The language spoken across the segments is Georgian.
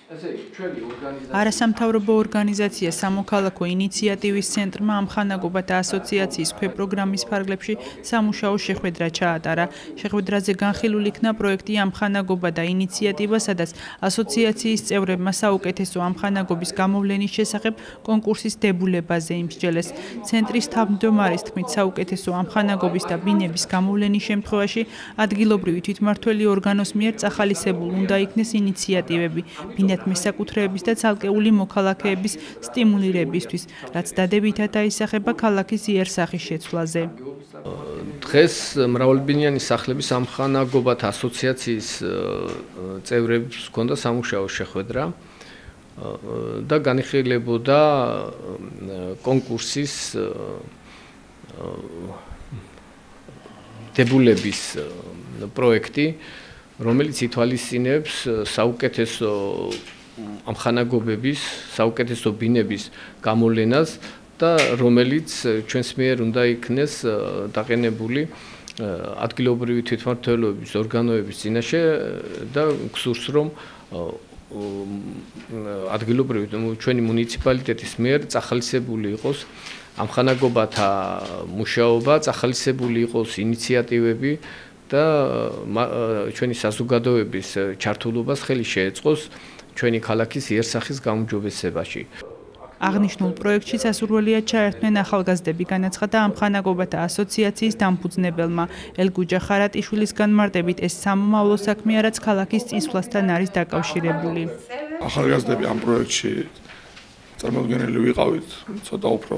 არასამთავრობო ორგანიზაცია სამოქალაქო ინიციატივის ცენტრმა ამხანაგობათა ასოციაციის ქვეპროგრამის ფარგლებში სამუშაო შეხვედრა ჩაატარა. შეხვედრაზე განხილულ იქნა პროექტი ამხანაგობა და ინიციატივა, სადაც ასოციაციის წევრებმა საუკეთესო ამხანაგობის გამოვლენის შესახებ კონკურსის დებულებაზე იმსჯელეს. ცენტრის თავმჯდომარის თქმით, საუკეთესო ამხანაგობის და ბინების გამოვლენის შემთხვევაში ადგილობრივი თვითმმართველი ორგანოს მიერ წახალისებულ უნდა იქნეს ინიციატივები მესაკუთრეების და ცალკეული მოქალაქეების სტიმულირებისთვის, რაც დადებითად აისახება ქალაქის იერსახის შეცვლაზე. დღეს მრავალბინიანი სახლების ამხანაგობათა ასოციაციის წევრებს ჰქონდა სამუშაო შეხვედრა და განიხილებოდა კონკურსის დებულების პროექტი, რომელიც ითვალისწინებს საუკეთესო ამხანაგობების, საუკეთესო ბინების გამოვლენას და რომელიც ჩვენს მიერ უნდა იქნეს დაყენებული ადგილობრივი თვითმმართველობის ორგანოების წინაშე და გსურს რომ ადგილობრივი ჩვენი მუნიციპალიტეტის მიერ წახალისებული იყოს ამხანაგობათა მუშაობა, წახალისებული იყოს ინიციატივები და ჩვენი საზოგადოების ჩართულობას ხელი შეეწყოს ჩვენი ქალაქის იერსახის გაუმჯობესებაში. აღნიშნულ პროექტში სასურველია ჩაერთვნენ ახალგაზრდები, განაცხადა ამხანაგობათა ასოციაციის დამფუძნებელმა. ელგუჯა ხარატიშვილის განმარტებით, ეს სამომავლო საქმეა, რაც ქალაქის წინსვლასთან არის დაკავშირებული. ახალგაზრდები ამ პროექტში წარმოდგენილი ვიყავით, ცოტა უფრო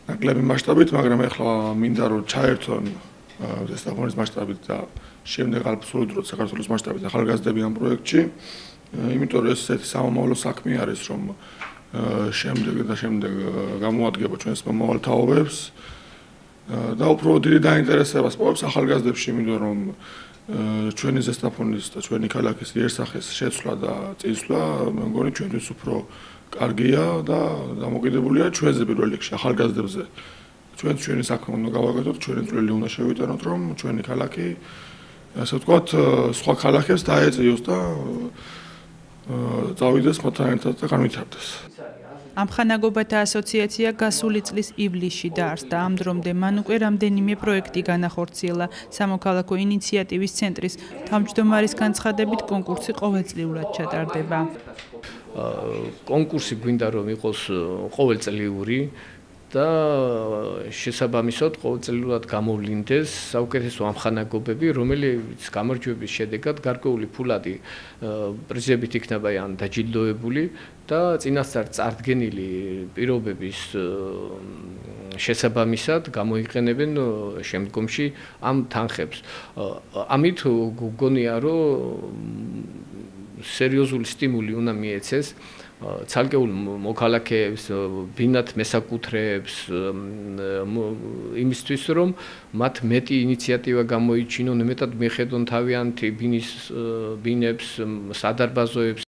ნაკლები მასშტაბით, მაგრამ ეხლა მინდა რომ ჩაერთონ ზესტაფონის მასშტაბით და შემდეგ აბსოლუტურად საქართველოს მასშტაბით ახალგაზრდები ამ პროექტში, იმიტომ რომ ეს ესეთი სამომავლო საქმე არის, რომ შემდეგ გამოადგება ჩვენს მომავალ თაობებს და უფრო დიდი დაინტერესებას პოვებს ახალგაზრდებში, იმიტომ რომ ჩვენი ზესტაფონის და ჩვენი ქალაქის იერსახის შეცვლა და წინსვლა, მე მგონი ჩვენთვის უფრო კარგია და დამოკიდებულია ჩვენზე პირველ რიგში ახალგაზრდებზე. ჩვენი საქმე უნდა გავაკეთოთ, ჩვენი წვლილი უნდა შევიტანოთ, რომ ჩვენი ქალაქი, ასე ვთქვათ, სხვა ქალაქებს დაეწიოს და წავიდეს მოთან ერთად და განვითარდეს. ამხანაგობათა ასოციაცია გასული წლის ივლისში დაარსდა. ამ დრომდე მან უკვე რამდენიმე პროექტი განახორციელა. სამოქალაქო ინიციატივის ცენტრის თავმჯდომარის განცხადებით, კონკურსი ყოველწლიურად ჩატარდება. კონკურსი გვინდა რომ იყოს ყოველწლიური და შესაბამისად ყოველწლიურად გამოვლინდეს საუკეთესო ამხანაგობები, რომელიც გამარჯვების შედეგად გარკვეული ფულადი პრიზებით იქნება დაჯილდოებული და წინასწარ წარდგენილი პირობების შესაბამისად გამოიყენებენ შემდგომში ამ თანხებს. ამით გგონია რომ სერიოზული სტიმული უნდა მიეცეს ცალკეულ მოქალაქეებს, ბინათ მესაკუთრეებს იმისთვის, რომ მათ მეტი ინიციატივა გამოიჩინონ, მეტად მიხედონ თავიანთი ბინებს, სადარბაზოებს.